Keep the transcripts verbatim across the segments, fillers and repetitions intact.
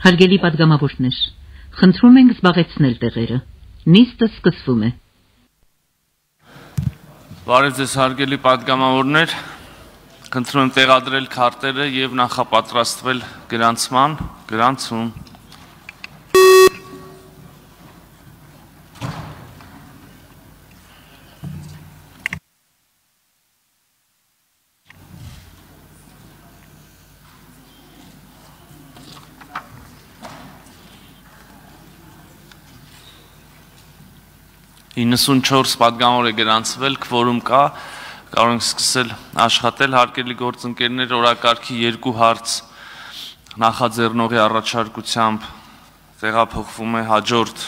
Հարգելի պատգամավորներ, խնդրում ենք զբաղեցնել տեղերը։ Նիստը սկսվում է։ Բարև ձեզ հարգելի պատգամավորներ, խնդրում եմ տեղադրել քարտերը եւ նախապատրաստվել գրանցման, գրանցում։ իննսունչորս պատգամավոր է գրանցվել, քվորում կա, կարող ենք սկսել աշխատել, հարգելի գործընկերներ, օրակարգի երկու հարց նախաձեռնողի առաջարկությամբ տեղափոխվում է հաջորդ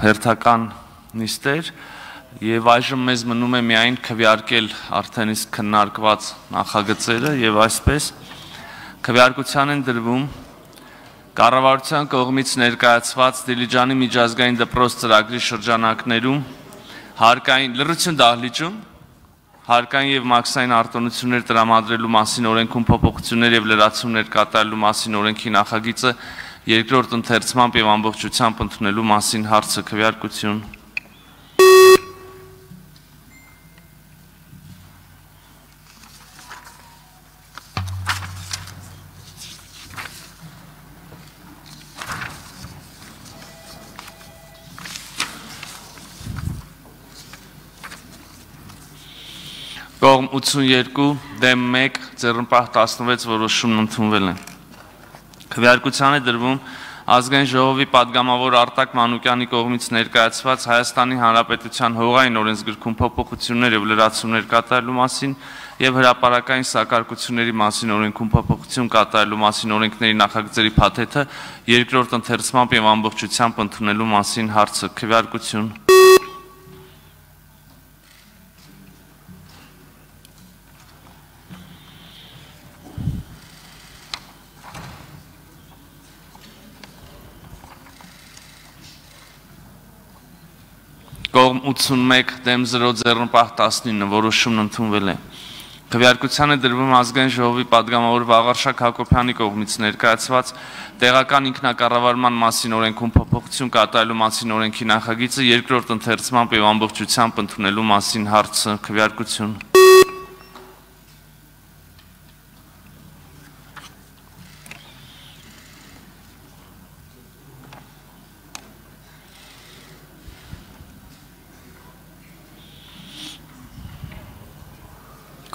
հերթական նիստեր եւ այժմ մեզ մնում է միայն քվեարկել արդեն իսկ քննարկված նախագծերը եւ այսպես քվեարկության են դրվում Կառավարության կողմից ներկայացված Դիլիջանի միջազգային դպրոց ծրագրի շրջանակներում հարկային լրություն դահլիճում հարկային եւ մաքսային արտոնություններ տրամադրելու մասին օրենքում փոփոխություններ եւ լրացումներ կատարելու մասին օրենքի նախագիծը երկրորդ ընթերցմամբ եւ ամբողջությամբ ընդունելու մասին հարցը քվեարկություն Կողմ ութսունյերկու դեմ մեկ ձեռնպահ տասնվեց որոշումն ընդունվել է։ Քվեարկության է դրվում Ազգային ժողովի պատգամավոր Արտակ Մանուկյանի կողմից ներկայացված Հայաստանի Հանրապետության հողային օրենսգրքում փոփոխություններ եւ լրացումներ կատարելու մասին եւ հրապարակային սակարկությունների մասին օրենքում փոփոխություն կատարելու մասին օրենքների նախագծերի փաթեթը երկրորդ ընթերցմամբ եւ ամբողջությամբ ընդունելու մասին հարցը քվեարկություն Կողմ ութսունմեկ դեմ զրո ձեռնպահ տասնինը որոշումն ընդունվել է։ Քվեարկության է դրվում Ազգային ժողովի պատգամավոր Վաղարշակ Հակոբյանի կողմից ներկայացված տեղական ինքնակառավարման մասին օրենքում փոփոխություն կատարելու մասին օրենքի նախագիծը երկրորդ ընթերցմամբ եւ ամբողջությամբ ընդունելու մասին հարցը քվեարկություն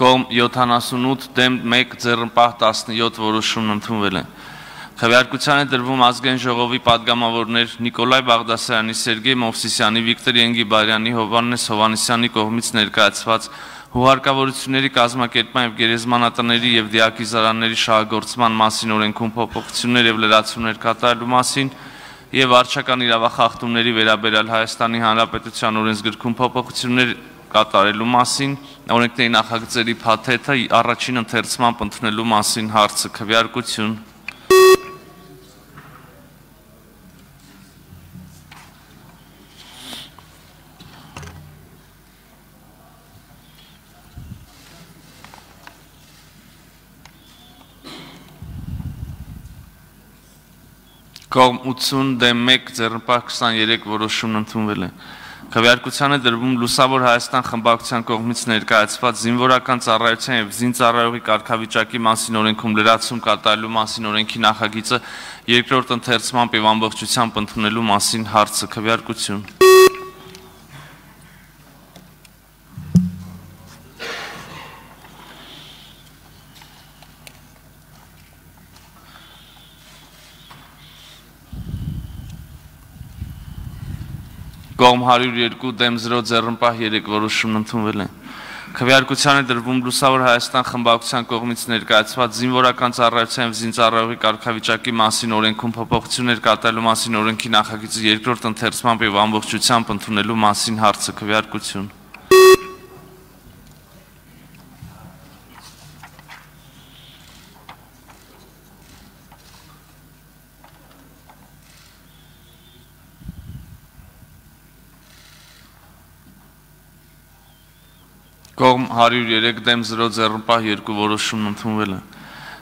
Կողմ յոթանասունութ դեմ մեկ ձեռնպահ տասնյոթ որոշումն ընդունվել է։ Քվեարկության է դրվում Ազգային ժողովի պատգամավորներ Նիկոլայ Բաղդասարյանի, Սերգեյ Մովսիսյանի, Վիկտոր Ենգիբարյանի, Հովհաննես Հովհաննիսյանի կողմից ներկայացված հուղարկավորությունների կազմակերպման եւ գերեզմանատների եւ դիակիզարանների շահագործման մասին օրենքում փոփոխություններ եւ լրացումներ կատարելու մասին եւ վարչական իրավախախտումների վերաբերյալ Հայաստանի Հանրապետության օրենսգրքում փոփոխություններ կատարելու մասին օրենքների նախագծերի փաթեթը առաջին ընթերցմամբ ընդունելու մասին հարցը քվեարկություն Կողմ ութսուն դեմ մեկ ձեռնպահ քսաներեք որոշումն ընդունվել է։ Քվեարկության է դրվում Լուսավոր Հայաստան խմբակցության կողմից ներկայացված զինվորական ծառայության եւ զինծառայողի կարգավիճակի մասին օրենքում լրացում կատարելու մասին օրենքի նախագիծը երկրորդ ընթերցմամբ եւ ամբողջությամբ ընդունելու մասին հարցը քվեարկություն Կողմ հարյուր երկու դեմ զրո ձեռնպահ երեք որոշումն ընդունվել է։ Քվեարկության է դրվում Լուսավոր Հայաստան խմբակցության կողմից ներկայացված զինվորական ծառայության եւ զինծառայողի կարգավիճակի մասին օրենքում փոփոխություններ կատարելու մասին օրենքի նախագիծը երկրորդ ընթերցմամբ եւ ամբողջությամբ ընդունելու մասին հարցը քվեարկություն Կողմ հարյուր երեք դեմ զրո ձեռնպահ երկու որոշումն ընդունվել է։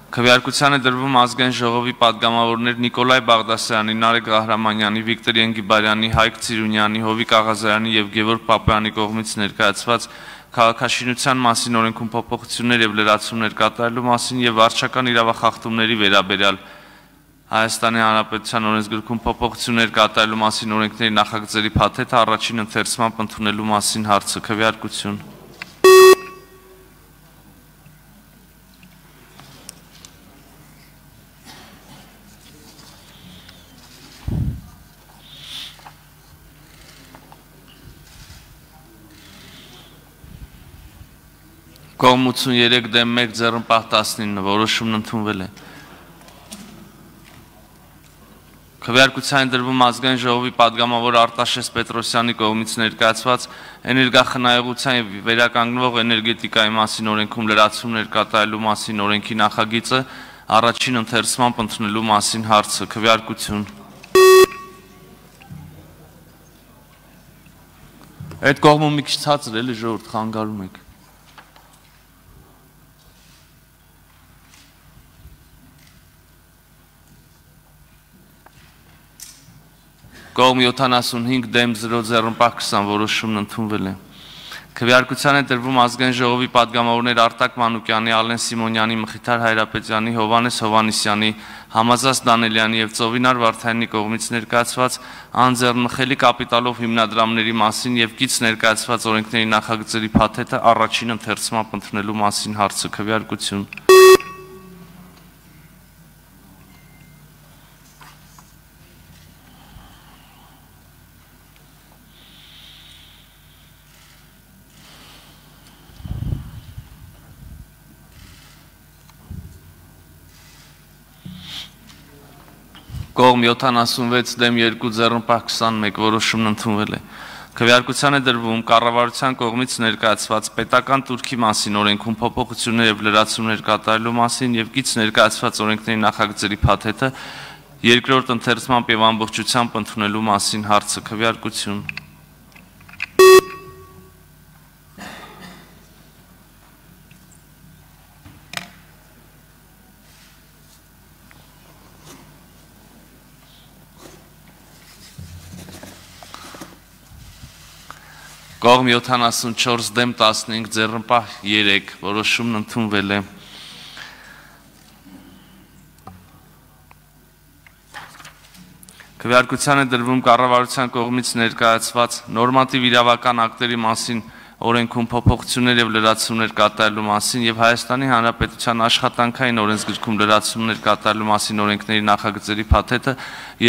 Քվեարկության է դրվում ազգային ժողովի պատգամավորներ Նիկոլայ Բաղդասարյանի, Նարեկ Ղահրամանյանի, Վիկտոր Ենգիբարյանի, Հայկ Ցիրունյանի, Հովիկ Աղազարյանի եւ Գևորգ Պապայանի կողմից ներկայացված քաղաքաշինության մասին օրենքում փոփոխություններ եւ լրացումներ կատարելու մասին եւ վարչական իրավախախտումների վերաբերյալ Հայաստանի Հանրապետության օրենսգրքում փոփոխություններ կատարելու մասին օրենքների նախագծերի փաթեթը առաջին ընթերցմամբ ընդունելու մասին հարցը քվեարկություն Կողմ ութսուններեք դեմ մեկ ձեռնպահ տասնինը որոշումն ընդունվել է։ Քվեարկության դրվում ազգային ժողովի պատգամավոր Արտաշես Պետրոսյանի կողմից ներկայացված էներգախնայողության եւ վերականգնվող էներգետիկայի մասին օրենքում լրացումներ կատարելու մասին օրենքի նախագիծը առաջին ընթերցմամբ ընդունելու մասին հարցը քվեարկություն Այդ կողմը մի քիչ ցածր էլի ժողովուրդ խանգարում եք Կողմ յոթանասունհինգ դեմ զրո ձեռնպահ քսան որոշումն ընդունվել է։ Քվեարկության է դրվում ազգային ժողովի պատգամավորներ Արտակ Մանուկյանի, Ալեն Սիմոնյանի, Մխիթար Հայրապետյանի, Հովանես Հովանիսյանի, Համազած Դանելյանի եւ Ծովինար Վարդայանի կողմից ներկայացված անձեռնմխելի կապիտալով հիմնադրամների մասին եւ կից ներկայացված օրենքների նախագծերի փաթեթը առաջին ընթերցմամբ ընդունելու մասին հարցը քվեարկություն Կողմ յոթանասունվեց դեմ երկու ձեռնպահ քսանմեկ որոշումն ընդունվել է։ Քվեարկության է դրվում կառավարության կողմից ներկայացված պետական турքի մասին օրենքում փոփոխություններ եւ լրացումներ կատարելու մասին եւ կից ներկայացված օրենքների նախագծերի փաթեթը երկրորդ ընթերցմամբ եւ ամբողջությամբ ընդունելու մասին հարցը քվեարկություն Կողմ յոթանասունչորս դեմ տասնհինգ ձեռնպահ երեք որոշումն ընդունվել է։ Քվեարկության է դրվում կառավարության կողմից ներկայացված նորմատիվ իրավական ակտերի մասին օրենքում փոփոխություններ եւ լրացումներ կատարելու մասին եւ Հայաստանի Հանրապետության աշխատանքային օրենսգրքում լրացումներ կատարելու մասին օրենքների նախագծերի փաթեթը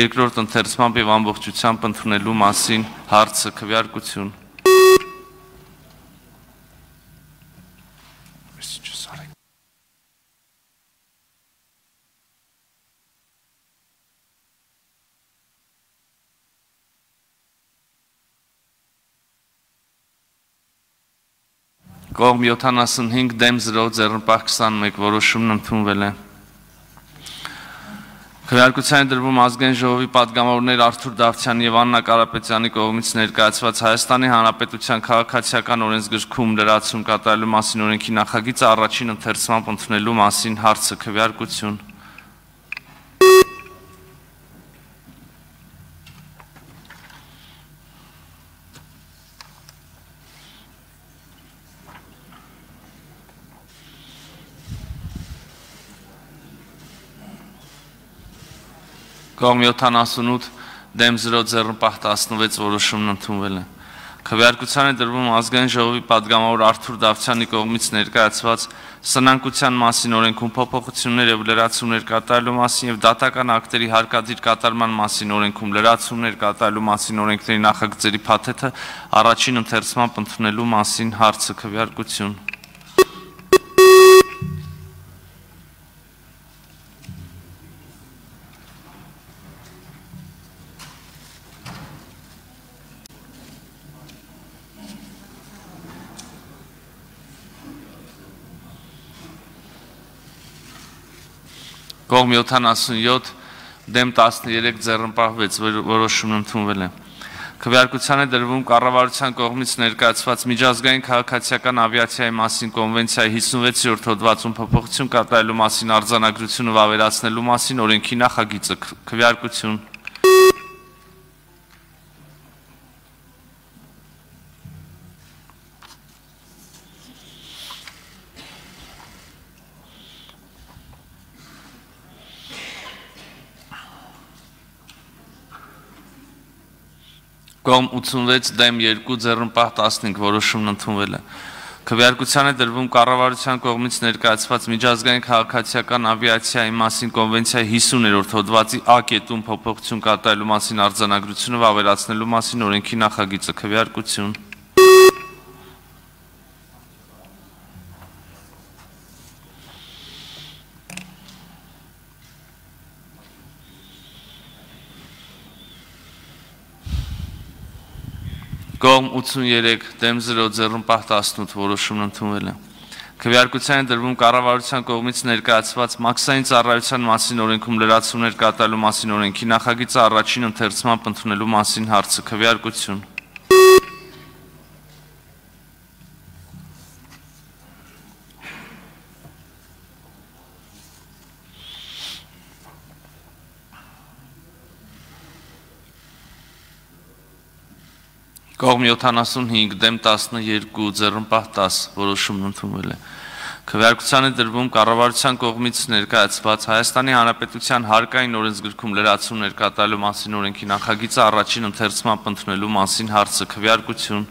երկրորդ ընթերցմամբ եւ ամբողջությամբ ընդունելու մասին հարցը քվեարկություն Կողմ յոթանասունհինգ դեմ զրո ձեռնպահ քսանմեկ որոշումն ընդունվել է։ Քվեարկության է դրվում ազգային ժողովի պատգամավորներ Արթուր Դավթյանի եւ Աննա Կարապետյանի կողմից ներկայացված Հայաստանի Հանրապետության քաղաքացիական օրենսգրքում լրացում կատարելու մասին օրենքի նախագիծը առաջին ընթերցմամբ ընդունելու մասին հարցը քվեարկություն Կողմ յոթանասունութ դեմ զրո ձեռնպահ տասնվեց որոշումն ընդունվել է։ Քվեարկության է դրվում ազգային ժողովի պատգամավոր Արթուր Դավթյանի կողմից ներկայացված սնանկության մասին օրենքում փոփոխություններ եւ լրացումներ կատարելու մասին եւ դատական ակտերի հարկադիր կատարման մասին օրենքում լրացումներ կատարելու մասին օրենքների նախագծերի փաթեթը առաջին ընթերցմամբ ընդունելու մասին հարցը քվեարկություն Կողմ յոթանասունյոթ դեմ տասներեք ձեռնպահ վեց որոշումն ընդունվել է։ Քվեարկության է դրվում կառավարության կողմից ներկայացված միջազգային քաղաքացիական ավիացիայի մասին կոնվենցիայի հիսունվեցերորդ հոդվածում փոփոխություն կատարելու մասին արձանագրությունը վավերացնելու մասին օրենքի նախագիծը։ Քվեարկություն։ Կողմ ութսունվեց դեմ երկու ձեռնպահ տասնհինգ որոշումն ընդունվել է։ Քվեարկության է դրվում կառավարության կողմից ներկայացված միջազգային քաղաքացիական ավիացիայի մասին կոնվենցիայի հիսուներորդ հոդվածի Ա կետում փոփոխություն կատարելու մասին արձանագրությունը վավերացնելու մասին օրենքի նախագիծը։ Քվեարկություն։ Կողմ ութսուններեք դեմ զրո ձեռնպահ տասնութ որոշումն ընդունվել է։ Քվեարկության է դրվում կառավարության կողմից ներկայացված մաքսային ծառայության մասին օրենքում լրացումներ կատարելու մասին օրենքի նախագիծը առաջին ընթերցմամբ ընդունելու մասին հարցը։ Քվեարկություն։ Կողմ յոթանասունհինգ դեմ տասնյոթ ձեռնպահ տաս որոշումն ընդունվել է։ Քվեարկության է դրվում կառավարության կողմից ներկայացված Հայաստանի Հանրապետության հարկային օրենսգրքում լրացումներ կատարելու մասին օրենքի նախագիծը առաջին ընթերցմամբ ընդունելու մասին հարցը։ Քվեարկություն։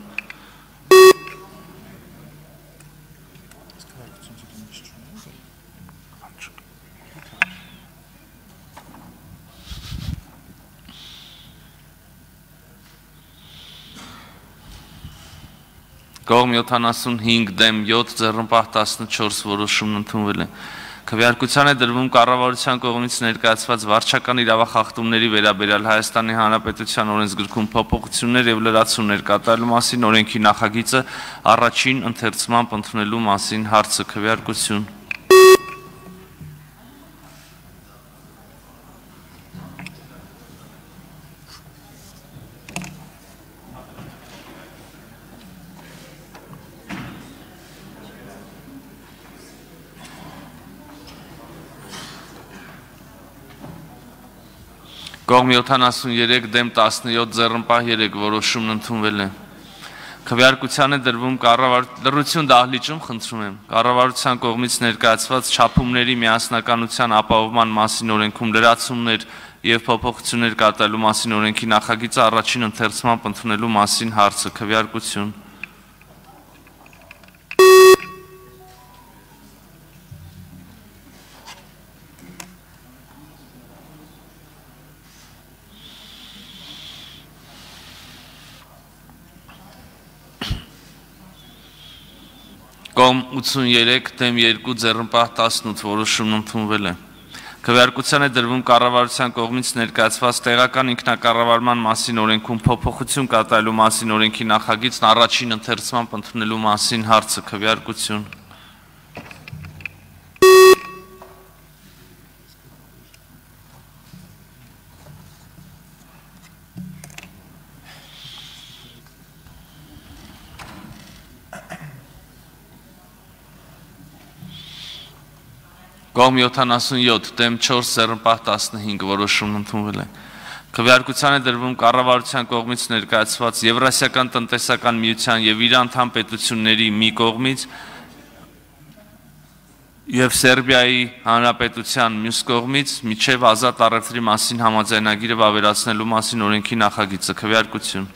Կողմ յոթանասունհինգ դեմ յոթ ձեռնպահ տասնչորս որոշումն ընդունվել է։ Քվեարկության է դրվում կառավարության կողմից ներկայացված վարչական իրավախախտումների վերաբերյալ Հայաստանի Հանրապետության օրենսգրքում փոփոխություններ եւ լրացումներ կատարելու մասին օրենքի նախագիծը առաջին ընթերցմամբ ընդունելու մասին հարցը։ Քվեարկություն։ Կողմ յոթանասուներեք դեմ տասնյոթ ձեռնպահ երեք որոշումն ընդունվել է։ Քվեարկության է դրվում լռություն դահլիճում, խնդրում եմ, կառավարության կողմից ներկայացված չափումների միասնականության ապահովման մասին օրենքում լրացումներ եւ փոփոխություններ կատարելու մասին օրենքի նախագիծը առաջին ընթերցմամբ ընդունելու մասին հարցը։ Քվեարկություն։ Կողմ ութսուներեք դեմ երկու ձեռնպահ տասնութ որոշումն ընդունվել է։ Քվեարկության է դրվում կառավարության կողմից ներկայացված տեղական ինքնակառավարման մասին օրենքում փոփոխություն կատարելու մասին օրենքի նախագիծն առաջին ընթերցմամբ ընդունելու մասին հարցը։ Քվեարկություն։ Կողմ յոթանասունյոթ դեմ չորս ձեռնպահ տասնհինգ որոշումն ընդունվել է։ Քվեարկության է դրվում կառավարության կողմից ներկայացված Եվրասիական տնտեսական միության եւ իր անդամ պետությունների մի կողմից եւ Սերբիայի Հանրապետության մյուս կողմից միջև ազատ առևտրի մասին համաձայնագիրը վավերացնելու մասին օրենքի նախագիծը։ Քվեարկություն։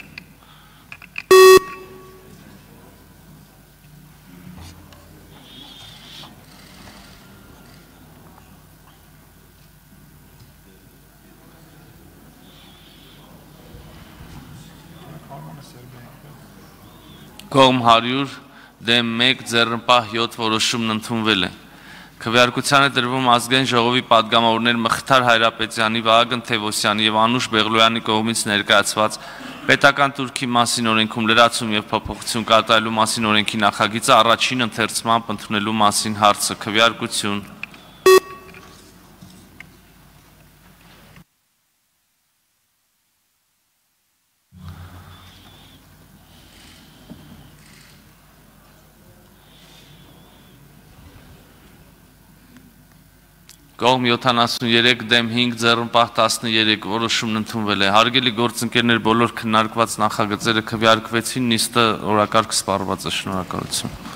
Կողմ հարյուր դեմ մեկ ձեռնպահ յոթ որոշումն ընդունվել է։ Քվեարկության է դրվում ազգային ժողովի պատգամավորներ Մխիթար Հայրապետյանի, Վահագն Թևոսյանի եւ Անուշ Բեղլոյանի կողմից ներկայացված պետական турքի մասին օրենքում լրացում եւ փոփոխություն կատարելու մասին օրենքի նախագիծը առաջին ընթերցմամբ ընդունելու մասին հարցը։ Քվեարկություն։ Կողմ յոթանասուններեք դեմ հինգ ձեռնպահ տասններեք որոշումն ընդունվել է։ Հարգելի գործընկերներ, բոլոր քննարկված նախագծերը քվեարկվեցին, նիստը օրակարգ սպառված է։ Շնորհակալություն։